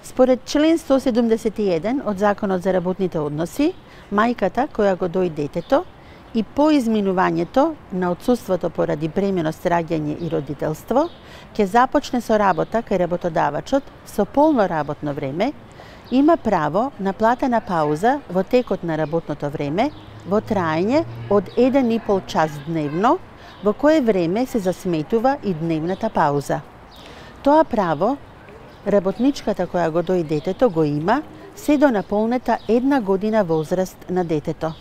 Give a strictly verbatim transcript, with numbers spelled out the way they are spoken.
Според член сто седумдесет и еден од Законот за работните односи, мајката која го дои детето и по изминувањето на отсуството поради бременост, раѓање и родителство, ќе започне со работа кај работодавачот со полно работно време, има право на платена пауза во текот на работното време во траење од еден и пол час дневно, во кое време се засметува и дневната пауза. Тоа право работничката која го дои детето го има се до наполнета една година возраст на детето.